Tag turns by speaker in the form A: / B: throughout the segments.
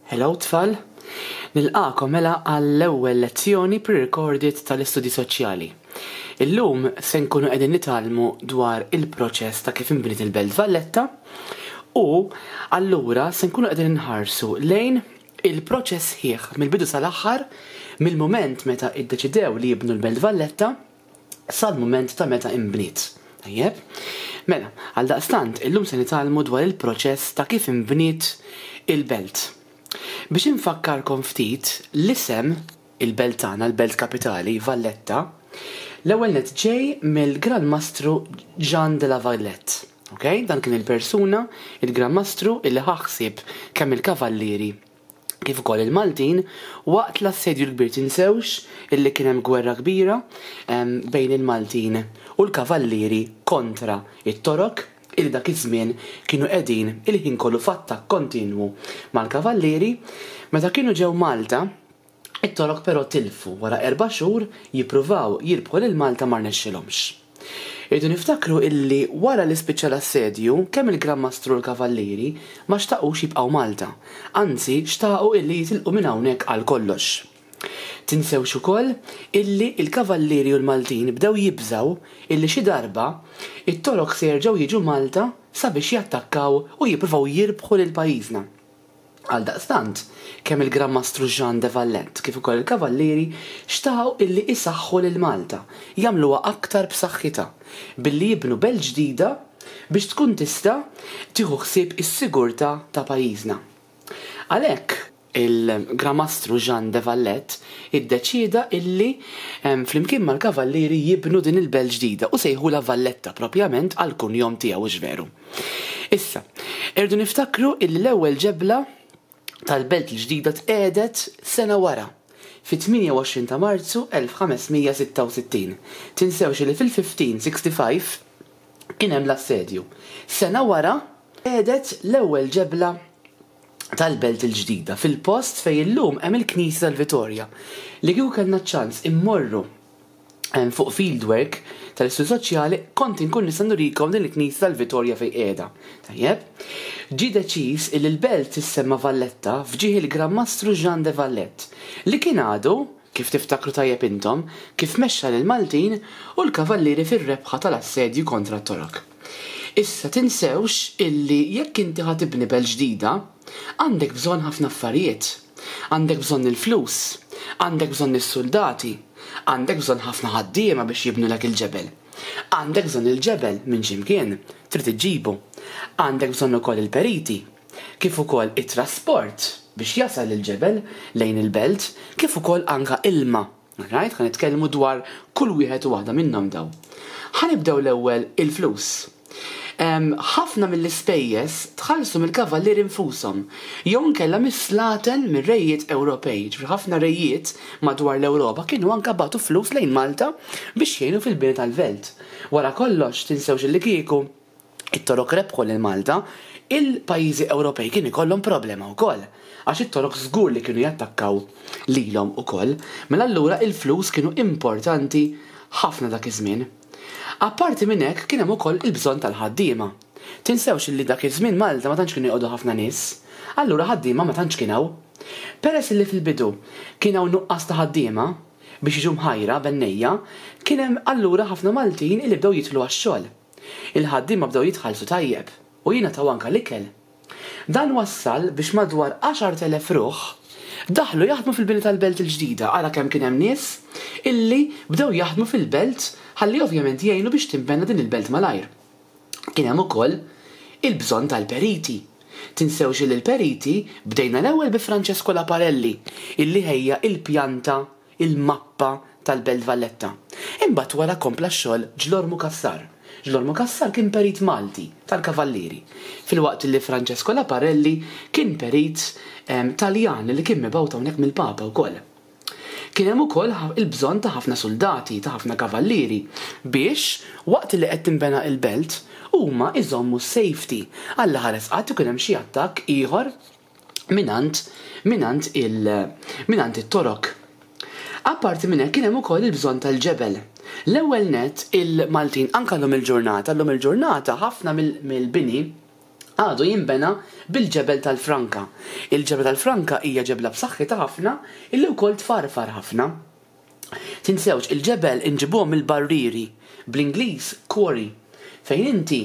A: Hello tfal! Nilqagħkom mela għall-ewwel lezzjoni pre-recorded tal-Istudji Soċjali. Illum se nkunu qegħdin nitgħallmu dwar il-proċess ta' kif inbniet il-Belt Valletta u allura se nkunu qegħdin inħarsu lejn il-proċess sħiħ mill-bidu sal-aħħar mill-mument meta iddeċidew li jibnu l-Belt Valletta sal-mument ta' meta inbniet. Tajjeb? Mela, għaldaqstant, illum se nitgħallmu dwar il-proċess ta' kif inbniet il-belt. Biex infakkarkom ftit, l-isem il-belt tagħna, l-belt kapitali, Valletta, l-ewwel nett ġej mill-Gran Mastru Jean de la Vallette. Ok? Dan kien il-persuna, il-Gran Mastru, illi ħa ħsieb kemm il-kavallieri kif ukoll il-Maltin waqt l-Assedju l-Kbir tinsewx illi kien hemm gwerra kbira bejn il-Maltin u l-Kavallieri kontra t-Torok illi dak iż-żmien kienu qegħdin il-ħin kollu f'attakk kontinwu mal-Kavallieri. Meta kienu ġew Malta, it-Torok però tilfu wara erba' xhur jippruvaw jirbħu lil Malta ma rnexxilhomx. Irridu niftakru illi wara li spiċċa l-assedju, kemm il-Gran Mastru u l-Kavallieri ma xtaqux jibqgħu Malta, anzi xtaqu illi jitilqu minn hawnhekk għal kollox. Tinsewx ukoll illi l-Kavallieri u l-Maltin bdew jibżgħu illi xi darba it-Torok se jerġgħu jiġu Malta sabiex jattakkaw u jippruvaw jirbħu lil pajjiżna. Għaldaqstant, kemm il-Gran Mastru Jean de Valette kif ukoll il-Kavallieri xtaqu illi isaħħu lil Malta, jagħmluha aktar b'saħħitha, billi jibnu belt ġdida biex tkun tista' tieħu ħsieb is-sigurtà ta' pajjiżna. Għalhekk, il-Gran Mastru Jean de Valette iddeċieda illi flimkien mal-Kavallieri jibnu din il-belt ġdida u sejħulha Valletta propjament għall-kunjom tiegħu, hux veru? Issa, irridu niftakru illi l-ewwel ġebla tal-belt il-ġdida tqiegħdet sena wara, fit-28 ta' Marzu 1566. Tinsewx illi fil-1565 kien hemm l-assedju. Sena wara tqiegħdet l-ewwel ġebla tal-belt il-ġdida fil-post fejn illum hemm il-Knisja tal-Vitorja. Li kieku kellna ċ-ċans immorru fuq fieldwork tal-Istudju Soċjali kont inkun nista' nurikom din il-Knisja tal-Vitorja fejn qiegħda. Tajjeb? Ġie deċiż illi l-belt tissemma Valletta f'ġieħ il-Gran Mastru Jean de Valette, li kien għadu, kif tiftakru tajjeb intom, kif mexxa lill-Maltin u l-Kavallieri fir-rebħa tal-assedju kontra t-Torok. Issa tinsewx illi jekk inti ħa tibni belt ġdida, għandek bżonn ħafna affarijiet. Għandek bżonn il-flus, għandek bżonn is-suldati, għandek bżonn ħafna ħaddiema biex jibnulek il-ġebel. Għandek bżonn il-ġebel minn xi mkien, trid iġġibu. Għandek bżonn ukoll il-periti, kif ukoll it-trasport biex jasal il-ġebel lejn il-belt, kif ukoll anke ilma. Alright, ħa nitkellmu dwar kull wieħed u waħda minnhom daw. Ħa nibdew l-ewwel il-flus. Ħafna mill-ispejjeż tħallsu mill-kavallieri nfushom jew inkella mis-slaten mir-rejiet Ewropej. Ġifieri ħafna rejiet madwar l-Ewropa kienu anke bagħtu flus lejn Malta biex jgħinu fil-bini tal-belt. Wara kollox, tinsewx illi kieku it-Torok rebħu lil Malta, il-pajjiżi Ewropej kien ikollhom problema wkoll, għax it-Torok żgur li kienu jattakkaw lilhom ukoll. Mela allura il-flus kienu importanti ħafna dak iż-żmien. Apparti minn hekk kien hemm ukoll il-bżonn tal-ħaddiema. Tinsewx illi dak iż-żmien Malta ma tantx kienu joqogħdu ħafna nies, allura ħaddiema ma tantx kien hawn. Peress illi fil-bidu kien hawn nuqqas ta' ħaddiema biex jiġu mħajra bennejja, kien hemm allura ħafna Maltin illi bdew jidħlu għax-xogħol. Il-ħaddiema bdew jitħallsu tajjeb u jingħataw anke l-ikel. Dan wassal biex madwar 10,000 ruħ daħlu jaħdmu fil-bini tal-belt il-ġdida, ara kemm kien hemm nies illi bdew jaħdmu fil-belt ħalli ovvjament jgħinu biex tinbena din il-belt malajr. Kien hemm ukoll il-bżonn tal-periti. Tinsewx illi l-periti bdejna l-ewwel bi Francesco Laparelli illi ħejja il-pjanta il-mappa tal-Belt Valletta. Imbagħad wara kompla x-xogħol Ġlormu Cassar. Ġlormu Cassar kien perit Malti tal-Kavallieri, filwaqt li Francesco Laparelli kien perit Taljan li kien mibgħut hawnhekk mill-Papa wkoll. Kien hemm ukoll il-bżonn ta' ħafna suldati, ta' ħafna kavallieri biex waqt li qed tinbena l-belt huma jżommu s-safety Alla ħares qatt ikun hemm xi attakk ieħor mingħand mingħand il mingħand it-Torok. Apparti minn hekk kien hemm ukoll il-bżonn tal-ġebel. L-ewwel nett il-Maltin anke llum il-ġurnata, llum il-ġurnata ħafna mill-bini Għadu jinbena bil-ġebel tal-franka. Il-ġebla tal-franka hija ġebla b'saħħitha ħafna illi wkoll tfarfar ħafna. Tinsewx, il-ġebel inġibuhom mill-barrieri, bl-Ingliż quarry, fejn inti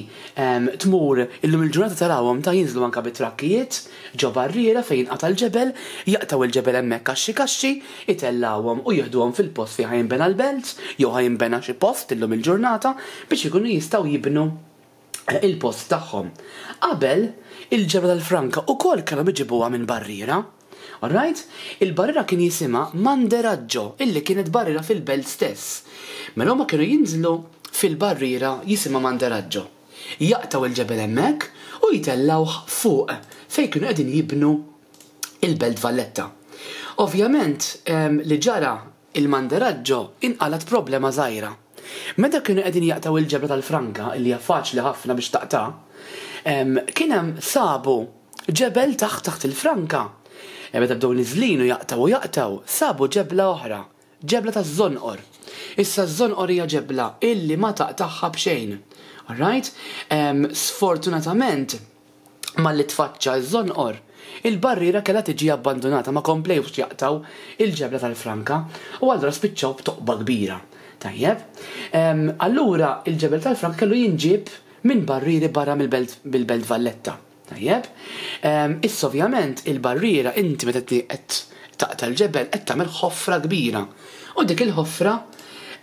A: tmur illum il-ġurnata tarawhom ta' jinżlu anke bit-trakkijiet ġo barriera fejn jinqata' l-ġebel, jaqtgħu l-ġebel hemmhekk kaxxi kaxxi, itellgħuhom u jieħduhom fil-post fejn ħa jinbena l-belt jew ħa jinbena xi post illum il-ġurnata biex ikunu jistgħu jibnu il-post tagħhom. Qabel, il-ġebla tal-franka ukoll kellhom iġibuha minn barriera. Alright? Il-barriera kien jisimha Manderaggio, illi kienet barriera fil-belt stess. Mela huma kienu jinżlu fil-barriera jisimha Manderaggio. Jaqtgħu il-ġebel hemmhekk u jtellgħuh fuq fejn kienu qegħdin jibnu il-Belt Valletta. Ovvjament, li ġara Il-Manderaggio inqalgħet problema żgħira. Meta kienu qegħdin jaqtgħu il-ġebla tal-franka, illi hija faċli ħafna biex taqta', kien hemm sabu ġebel taħt taħt il-franka. Meta bdew niżlin u jaqtgħu u jaqtgħu, sabu ġebla oħra, ġebla taż-żonqor. Issa ż-żonqor hija ġebla illi ma taqtagħha b'xejn. Alright? Sfortunatament, Malli tfaċċa ż-żonqor, il-barriera kellha tiġi abbandunata, ma komplewx jaqtgħu il-ġebla tal-franka u allura spiċċaw b'toqba kbira. Tajjeb. Allura il-ġebel tal-franka kellu jinġieb minn barrieri barra mill-belt mill-Belt Valletta. Tajjeb. Issa ovvjament il-barriera inti meta qed taqta' l-ġebel qed tagħmel ħofra kbira. U dik il-ħofra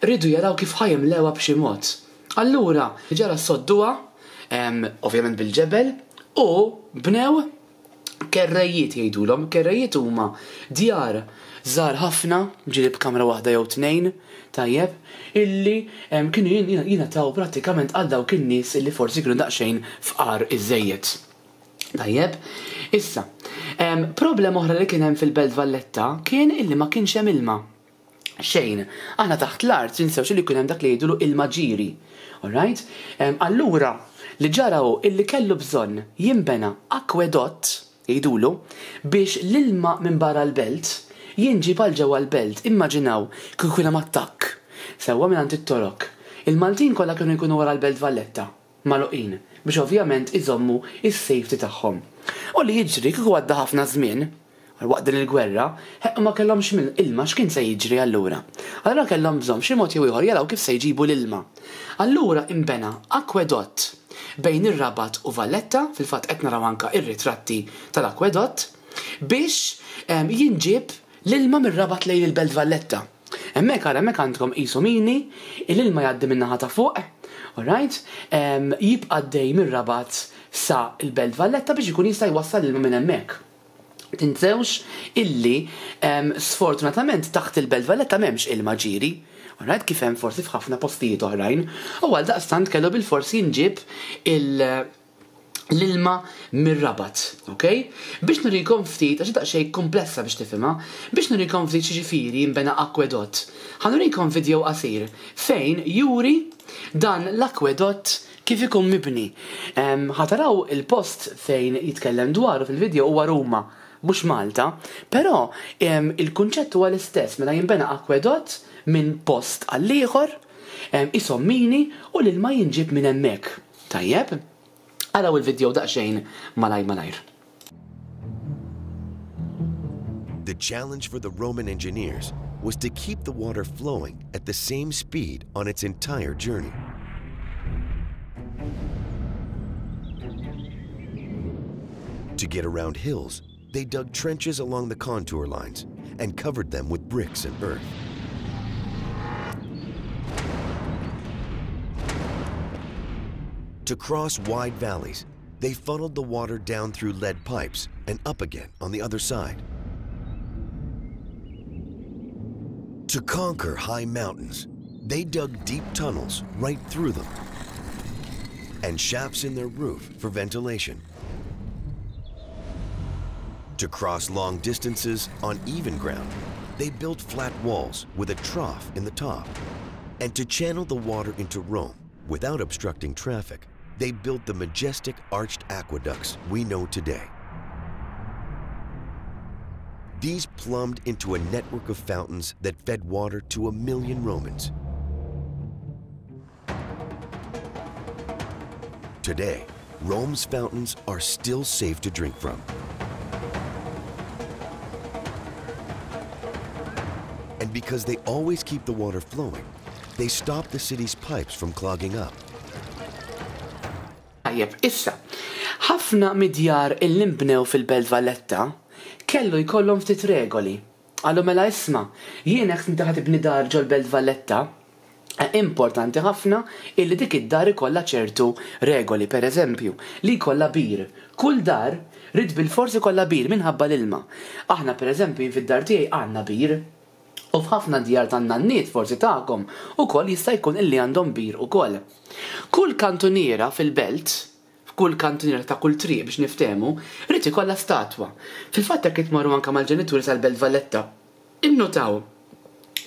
A: riedu jaraw kif ħa jimlewha b'xi mod. Allura ġara sodduha, ovvjament bil-ġebel, u bnew kerrejjiet jgħidulhom. Kerrejjiet huma djar żgħar ħafna, ġieli b'kamra waħda jew tnejn, tajjeb, illi kienu jingħataw prattikament għal dawk in-nies illi forsi kienu daqsxejn fqar iżżejjed. Tajjeb, issa, problema oħra li kien hemm fil-Belt Valletta kien illi ma kienx hemm ilma. Xejn. Aħna taħt l-art tinsewx li jkun hemm dak li jgħidulu ilma ġiri. Alright? Allura, li ġara hu illi kellu bżonn jinbena akwedott, jgħidulu, biex l-ilma minn barra l-belt jinġieb għal ġewwa l-belt. Immaġinaw kieku kien hemm attakk, sewwa mingħand it-Torok. Il-Maltin kollha kienu jkunu wara l-Belt Valletta, magħluqin, biex ovvjament iżommu s-safety tagħhom. U li jiġri kieku għadda ħafna żmien, Waqt din il-gwerra, ħeqq ma kellhomx ilma, x'kien se jiġri allura? Allura kellhom bżonn b'xi mod jew ieħor jaraw kif se jġibu l-ilma. Allura inbena akwedott bejn ir-Rabat u Valletta, fil-fatt qed naraw anke r-ritratti tal-akwedott, biex jinġieb l-ilma mir-Rabat lejn il-Belt Valletta. Hemmhekk ara hemmhekk għandkom qisu mini, l-ilma jgħaddi min-naħa ta' fuq, alright, jibqa' għaddej mir-Rabat sa l-Belt Valletta biex ikun jista' jwassal l-ilma minn hemmhekk. Tinsewx illi sfortunatament taħt il-Belt Valletta m'hemmx ilma ġieri, alright, kif hemm forsi f'ħafna postijiet oħrajn, u għaldaqstant kellu bilfors jinġieb il l-ilma mir-Rabat, ok? Biex nurikom ftit, għax daqsxejn komplessa biex tifhimha, biex nurikom ftit x'jiġifieri jinbena akwedott, ħa nurikom video qasir fejn juri dan l-akwedott Kif ikun mibni. Ħa taraw il-post fejn jitkellem dwaru fil-video huwa Ruma, mhux Malta, però il-kunċett huwa l-istess, mela jinbena akwedott minn post għall-ieħor, qishom mini u l-ilma jinġieb minn hemmhekk. Tajjeb? Araw il-video daqsxejn malajr malajr.
B: The challenge for the Roman engineers was to keep the water flowing at the same speed on its entire journey. To get around hills, they dug trenches along the contour lines and covered them with bricks and earth. To cross wide valleys, they funneled the water down through lead pipes and up again on the other side. To conquer high mountains, they dug deep tunnels right through them and shafts in their roof for ventilation. To cross long distances on even ground, they built flat walls with a trough in the top. And to channel the water into Rome without obstructing traffic, they built the majestic arched aqueducts we know today. These plumbed into a network of fountains that fed water to a million Romans. Today, Rome's fountains are still safe to drink from. And because they always keep the water flowing, they stop the city's pipes from clogging up.
A: Tajjeb, issa, ħafna mid-djar illi nbnew fil-Belt Valletta kellu jkollhom ftit regoli. Qalu mela isma', jien jekk inti ħa tibni dar ġol-Belt Valletta, importanti ħafna illi dik id-dar ikollha ċertu regoli, per eżempju, li jkollha bir. Kull dar ried bilfors ikollha bir minħabba l-ilma. Aħna per eżempju jien fid-dar tiegħi għandna bir. U f'ħafna djar tan-nanniet forsi tagħkom ukoll jista' jkun illi għandhom bir ukoll. Kull kantuniera fil-belt, f'kull kantuniera ta' kull triq biex niftehmu, ried ikollha statwa. Fil-fatt jekk tmorru anke mal-ġenituri sal-Belt Valletta, innutaw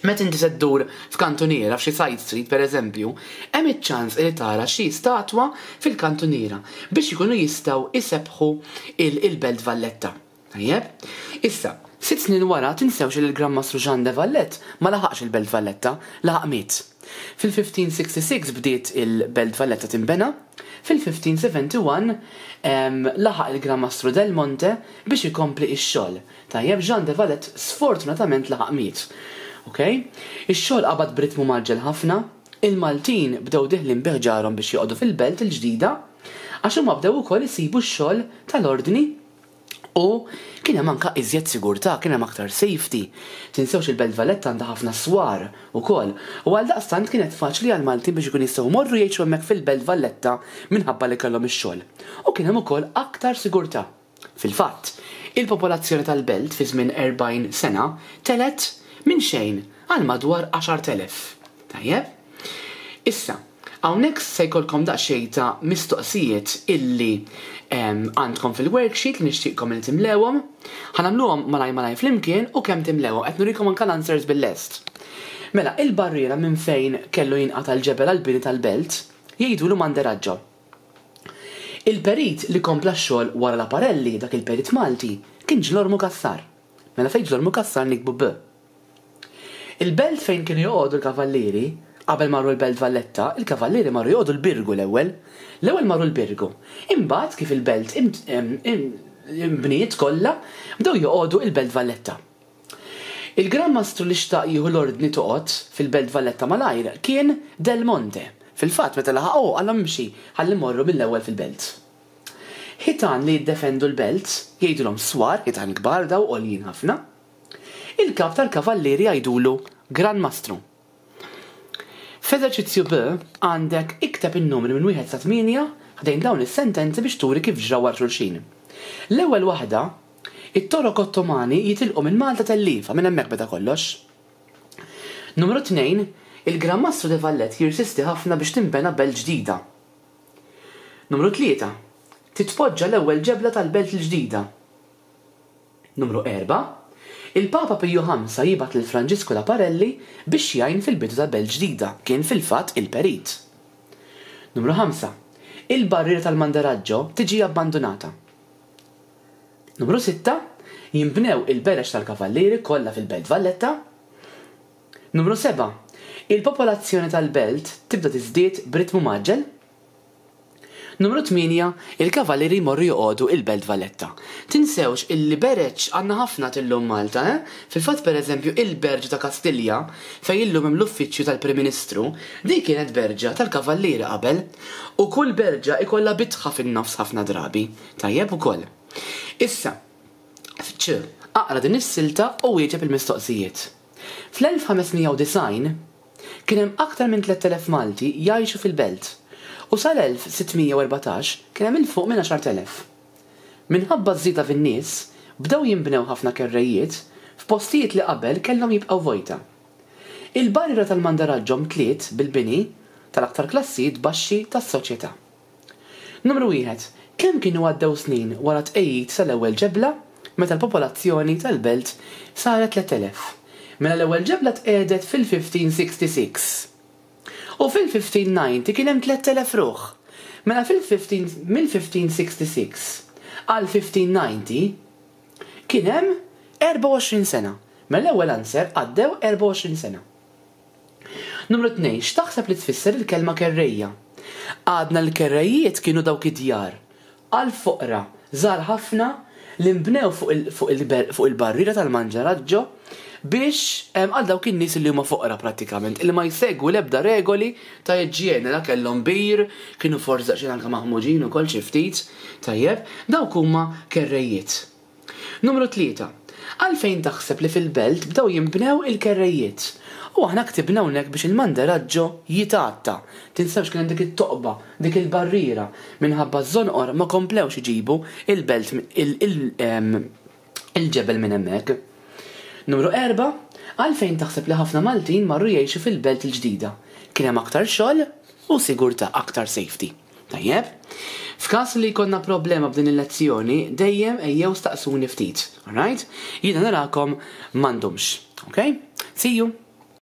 A: meta inti se ddur f'kantuniera f'xi side street pereżempju, hemm iċ-ċans li tara xi statwa fil-kantuniera biex ikunu jistgħu jsebbħu il-Belt Valletta. Tajjeb? Issa, sitt snin wara tinsewx li l-Gran Mastru Jean de Valette ma laħaqx il-Belt Valletta, laħaq miet. Fil-1566 bdiet il-Belt Valletta tinbena, fil-1571 laħaq il-Gran Mastru Del Monte biex ikompli x-xogħol. Tajjeb, Jean de Valette sfortunatament laħaq miet. Ok? Ix-xogħol qabad b'ritmu mgħaġġel ħafna, il-Maltin bdew deħlin bi ħġarhom biex joqogħdu fil-belt il-ġdida, għax huma bdew ukoll isibu x-xogħol tal-ordni U kien hemm anke iżjed sigurtà, kien hemm aktar safety. Tinsewx il-Belt Valletta għandha ħafna swar ukoll. U għaldaqstant kienet faċli għall-Maltin biex ikun jistgħu jmorru jgħixu hemmhekk fil-Belt Valletta minħabba li kellhom ix-xogħol. U kien hemm ukoll aktar sigurtà. Fil-fatt, il-popolazzjoni tal-belt fi żmien 40 sena telgħet minn xejn għal madwar 10,000. Tajjeb? Issa, hawnhekk se jkollkom daqsxejn ta' mistoqsijiet illi għandkom fil-worksheet li nixtieqkom li timlewhom. Ħa nagħmluhom malaj malaj flimkien u kemm timlewhom qed nurikom anke l-answers bil-lest. Mela, il-barriera minn fejn kellu jinqata' l-ġebel għall-bini tal-belt jgħidulu Manderaggio. Il-perit li kompla x-xogħol wara Laparelli, dak il-perit Malti, kien Ġlormu Cassar. Mela fejn Ġlormu Cassar niktbu B. Il-belt fejn kienu joqogħdu l-kavallieri, qabel marru l-Belt Valletta, il-kavallieri marru joqogħdu l-Birgu l-ewwel. L-ewwel marru l-Birgu. Imbagħad kif il-belt inbniet kollha, bdew joqogħdu il-Belt Valletta. Il-Gran Mastru li xtaq jieħu l-ordni toqgħod fil-Belt Valletta malajr kien Del Monte. Fil-fatt meta laħaq hu qalhom imxi ħalli mmorru mill-ewwel fil-belt. Ħitan li jiddefendu l-belt, jgħidulhom swar, ħitan kbar daw għoljin ħafna. Il-kap tal-kavallieri jgħidulu Gran Mastru. F'eżerċizzju B għandek ikteb in-numri minn wieħed sa tmienja ħdejn dawn is-sentenzi biex turi kif ġraw wara xulxin. L-ewwel waħda, It-Torok Ottomani jitilqu minn Malta telliefa, minn hemmhekk beda kollox. Numru tnejn, Il-Gran Mastru de Valette jirsisti ħafna biex tinbena belt ġdida. Numru tlieta, Titpoġġa l-ewwel ġebla tal-belt il-ġdida. Numru erbgħa, Il-Papa Piju Ħamsa jibgħat lil Franġisku Laparelli biex jgħin fil-bidu ta' belt ġdida, kien fil-fatt il-perit. Numru ħamsa, Il-barriera tal-Manderaggio tiġi abbandunata. Numru sitta, Jinbnew il-bereġ tal-kavallieri kollha fil-Belt Valletta. Numru sebgħa, Il-popolazzjoni tal-belt tibda tiżdied b'ritmu mgħaġġel. Numru tmienja, Il-Kavallieri jmorru joqogħdu il-Belt Valletta. Tinsewx illi bereġ għandna ħafna t'illum Malta, eh? Fil-fatt per eżempju il-Berġa ta' Kastilja, fejn illum hemm l-uffiċċju tal-Prim Ministru, din kienet berġa tal-Kavallieri qabel. U kull berġa ikollha bitħa fin-nofs ħafna drabi. Tajjeb ukoll. Issa, f'Ċ, aqra din is-silta u wieġeb il-mistoqsijiet. Fl-1590, Kien hemm aktar minn 3,000 Malti jgħixu fil-belt u sal-1614 kien hemm 'il fuq minn 10,000. Minħabba ż-żieda fin-nies, bdew jinbnew ħafna kerrejjiet f'postijiet li qabel kellhom jibqgħu vojta. Il-barriera tal-Mandaraggio mtliet bil-bini tal-aktar klassijiet baxxi tas-soċjetà. Numru wieħed, Kemm kienu għaddew snin wara t-tqegħid tal-ewwel ġebla meta l-popolazzjoni tal-belt saret 3,000? Mela l-ewwel ġebla tqiegħdet fil-1566. U fil-1590 kien hemm 3,000 ruħ. Mela fil-15 mill-1566 għal 1590 kien hemm 24 sena. Mela l-ewwel answer għaddew 24 sena. Numru tnejn, X'taħseb li tfisser il-kelma kerrejja? Għadna li l-kerrejjiet kienu dawk id-djar. għall-foqra żgħar ħafna li nbnew fuq il-barriera tal-Manġaraġġo biex għal dawk in-nies li huma foqra prattikament, li ma jsegwu l-ebda regoli ta' iġjene, la kellhom bir, kienu forsi daqsxejn anke maħmuġin ukoll xi ftit, tajjeb, dawk huma kerrejjiet. Numru 3. Għalfejn taħseb li fil-belt bdew jinbnew il-kerrejjiet? U aħna ktibna hawnhekk biex il-Manderaggio jitgħatta. Tinsewx kien hemm dik it-toqba, dik il-barriera, minħabba ż-żonqor ma komplewx iġibu il-belt il-ġebel minn hemmhekk. Numru 4. Għalfejn taħseb li ħafna Maltin marru jgħixu fil-belt il-ġdida? Kien hemm aktar xogħol u sigurtà, aktar safety. Tajjeb? F'każ li jkollna problema b'din il-lezzjoni, dejjem ejjew staqsuni ftit. Alright? Jiena narakom m'għandhomx. Okay? See you!